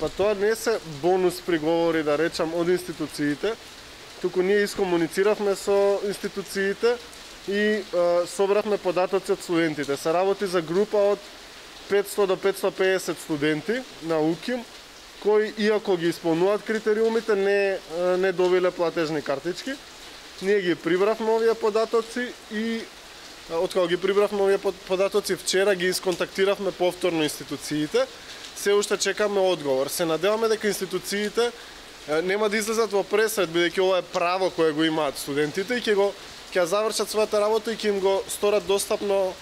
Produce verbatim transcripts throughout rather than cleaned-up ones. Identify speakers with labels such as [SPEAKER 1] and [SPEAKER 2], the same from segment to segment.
[SPEAKER 1] Па тоа не се бонус приговори, да речам, од институциите, туку ние искомунициравме со институциите и а, собравме податоци од студентите. Се работи за група од петстотини до петстотини и педесет студенти на УКИМ, кои, иако ги исполнуваат критериумите, не, не добиле платежни картички. Ние ги прибравме овие податоци и откако ги прибравме овие податоци вчера ги исконтактиравме повторно институциите. Се уште чекаме одговор. Се надеваме дека институциите нема да излезат во пресред, бидејќи ова е право кое го имаат студентите и ќе го ќе завршат својата работа и ќе им го сторат достапно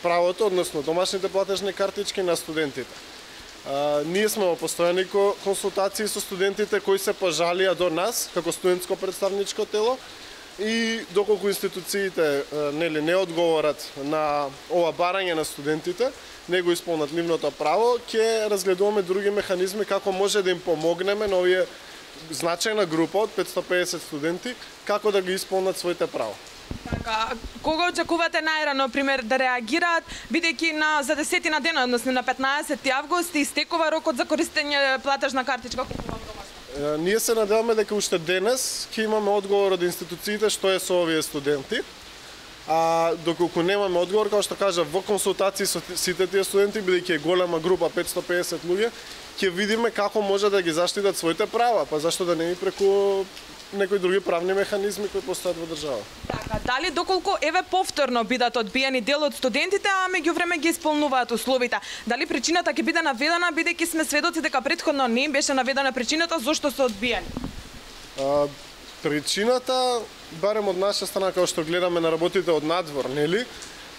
[SPEAKER 1] правото, односно домашните платежни картички на студентите. Uh, ние сме во постојани консултации со студентите кои се пожалија до нас како студентско представничко тело и доколку институциите uh, нели не одговорат на ова барање на студентите, не го исполнат нивното право, ќе разгледуваме други механизми како може да им помогнеме на овие значајна група од петстотини и педесет студенти како да ги исполнат своите права.
[SPEAKER 2] Така, кога очекувате најрано, пример, да реагираат, бидејќи на за десетина дена, односно на петнаесети август, истекува рокот за користење платежна картичка?
[SPEAKER 1] Е, ние се надеваме дека уште денес ќе имаме одговор од институциите што е со овие студенти. А доколку немаме одговор, како што кажа, во консултации со сите тие студенти, бидејќи е голема група, петстотини и педесет луѓе, ќе видиме како може да ги заштитат своите права, па зашто да не и преку некои други правни механизми кои постојат во држава.
[SPEAKER 2] Така, дали доколку еве повторно бидат одбиени дел од студентите, а меѓувреме ги исполнуваат условите, дали причината ќе биде наведена, бидејќи сме сведоци дека претходно не им беше наведена причината зошто се одбиени?
[SPEAKER 1] А, причината, барем од наша страна, како што гледаме на работите од надвор, нели?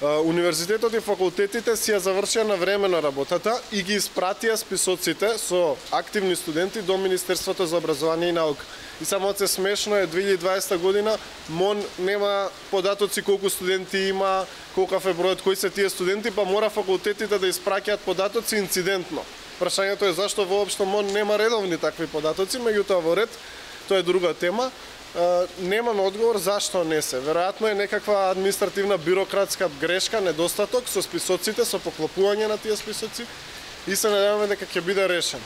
[SPEAKER 1] Универзитетот и факултетите си ја завршија на времено работата и ги испратија списоците со активни студенти до Министерството за образование и наука. И само се смешно е две илјади и дваесета година МОН нема податоци колку студенти има, колкав е бројот, кои се тие студенти, па мора факултетите да испраќаат податоци инцидентно. Прашањето е зашто воопшто МОН нема редовни такви податоци, меѓутоа во ред, тоа е друга тема. Uh, немаме одговор зашто не се. Веројатно е некаква административна бирократска грешка, недостаток со списоците, со поклопување на тие списоци и се надеваме дека ќе биде решен.